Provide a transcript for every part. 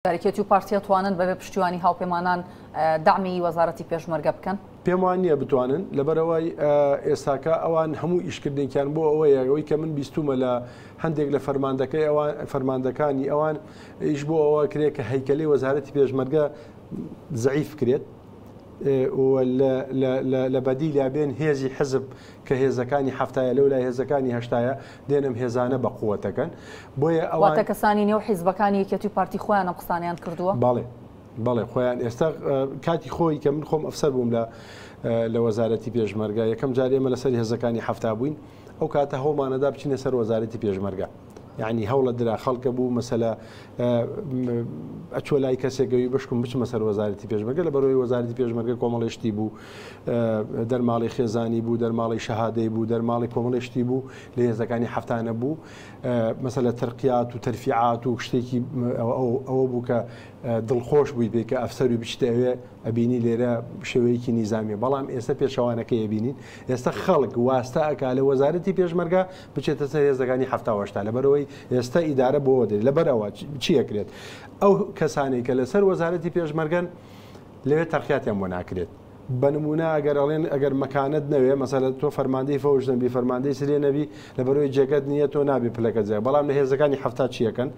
یەکێتی و پارتی ئەتوانن بەبێ پشتیوانی هاوپەیمانان دەعمی وەزارەتی پێشمەرگە بکەن؟ پێم وا نییە بتوانن، لەبەرئەوەی ئێستاکە ئەوان هەموو ئیشکردنێکیان بۆ ئەوەیە، ئەوەی کە من بیستوومە لە هەندێک لە فەرماندەکەی ئەوان فەرماندەکانی ئەوان ئیش بۆ ئەوە کرێت کە هەیکەلەی وەزارەتی پێشمەرگە زەعیف کرێت و لە بەدیلا بێن هێزی حزب کە هێزەکانی حەفتایە لەو لای هێزەکانی هەشتایە دێن ئەم هێزانە بە قوەتەکەن بۆیە ئەوان. واتە کەسانی نێو حیزبەکانی یەکێتی و پارتی خۆیان ئەم قسانەیان کردووە؟ بەڵێ بەڵێ خۆیان ئێستا کاتی خۆی کە من خۆم ئەفسەر بووم لە لە وەزارەتی پێشمەرگە یەکەم جار ئێمە لەسەر هێزەکانی حەفتا بووین ئەو کاتە هەوڵمانەدا بچینە سەر وەزارەتی پێشمەرگە. یانی هەوڵە درا خەڵکە بوو مەسەلە ئەچوە لای کەسێک گەوی بشکم بچمە سەر وەزارەتی پێشمەرگە لە بەرەوەی وەزارەتی پێشمەرگە کۆمەڵی شتی بوو دەرماڵی خێزانی بوو دەرماڵی شەهادەی بوو دەرماڵی کۆمەڵی شتی بوو لە هێزەکانی هەفتانە بوو مەسەلە تەرقیات و تەرفیعات و شتێکی ئەوە بوو کە دڵخۆش بووی پێی کە ئەفسەر و بچیتە ئەوێ ئەبینی لێرە شێوەیەکی نیزامیە بەڵام ئێستا پێچەوانەکەی ئەبینین ئێستا خەڵک واستە ئەکا لە وەزارەتی پێشمەرگە بچێتە سەر هێزەکانی حەفتا و هەشتا لەبەرئەوەی ئێستا ئیدارە بۆوە دێت لەبەرئەوە چی ئەکرێت ئەو کەسانەی کە لەسەر وەزارەتی پێشمەرگەن لەوێ تەرقیاتیان بۆ ناکرێت بە نمونە ئەگەر ئەڵێن ئەگەر مەکانت نەوێ مەسەلە تۆ فەرماندەی فەوج نەبی فەرماندەی سرێ نەبی لەبەرەوەی جێگەت نییە تۆ نابێ پلەکە جێ بەڵام لە هێزەکانی حەفتا چیەکەن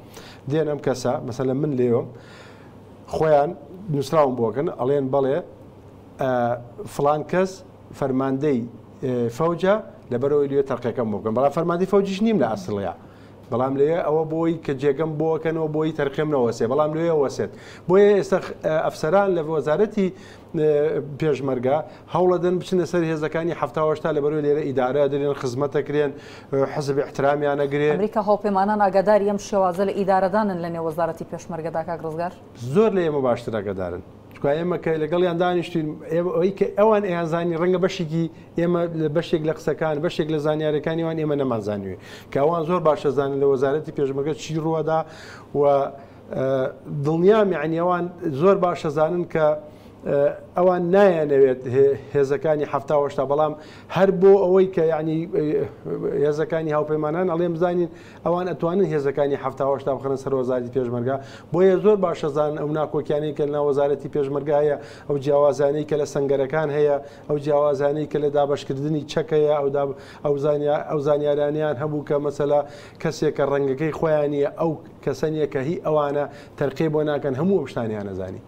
دێن ئەم کەسە مەسەلە من لێوم خۆیان نووسراوم بۆکەن ئەڵێن بەڵێ فلان کەس فەرماندەی فەوجە لەبەرەوەی لێ تەرقەکەم بۆ بکەن بەڵام فەرماندەی فەوجیش نیم لە ئەسڵەیە بەڵام لەوێ ئەوە بۆی کە جێگەم بۆکەنەوە بۆی تەرقێم نەوەسێ بەڵام لەوێ وەسێت بۆیە ئێستا ئەفسەران لە وەزارەتی پێشمەرگە هەوڵەدەن بچنە سەر هێزەکانی هەفتا لە بەرەوەی لێرە ئیدارە درێن خزمەتەکرێن حزب احترامیانەگرێ. ئەمریکا هاوپەیمانان ئاگاداری ئەم شێوازە لە ئیدارەدانن لە نێو وەزارەتی پێشمەرگەدا کاک ڕزگار؟ زۆر لە ئێمە باشتر ئاگادارن چونکە ئێمە کە لەگەڵیان دانیشتین ئەوەی کە ئەوان ئەیانزانی ڕەنگە بەشێکی ئێمە لە بەشێک لە قسەکان بەشێک لە زانیارەکانی ئەوان ئێمە نەمانزانیوێ کە ئەوان زۆر باش ئەزانن لە وەزارەتی پێشمەرگە چی ڕووەدا و دڵنیام یعنی ئەوان زۆر باش ئەزانن کە ئەوان نایانەوێت هێزەکانی حەفتا و هەشتا بەڵام هەر بۆ ئەوەی کە یعنی هێزەکانی هاوپەیمانان ئەڵێم بزانین ئەوان ئەتوانن هێزەکانی حەفتا و هەشتا بخەنە سەر وەزارەتی پێشمەرگە، بۆیە زۆر باش ئەزانن ئەو ناکۆکیانەی کە لەناو وەزارەتی پێشمەرگە هەیە، ئەو جیاوازانەی کە لە سەنگەرەکان هەیە، ئەو جیاوازانەی کە لە دابەشکردنی چەک هەیە، ئەو زانیارانەیان هەبوو کە مەسەلە کەسێک کە ڕەنگەکەی خۆیان نییە، ئەو کەسە نییە کە هی ئەوانە، تەرقیەی بۆ ناکەن، هەموو ئەو شتانەیان ئەزانی.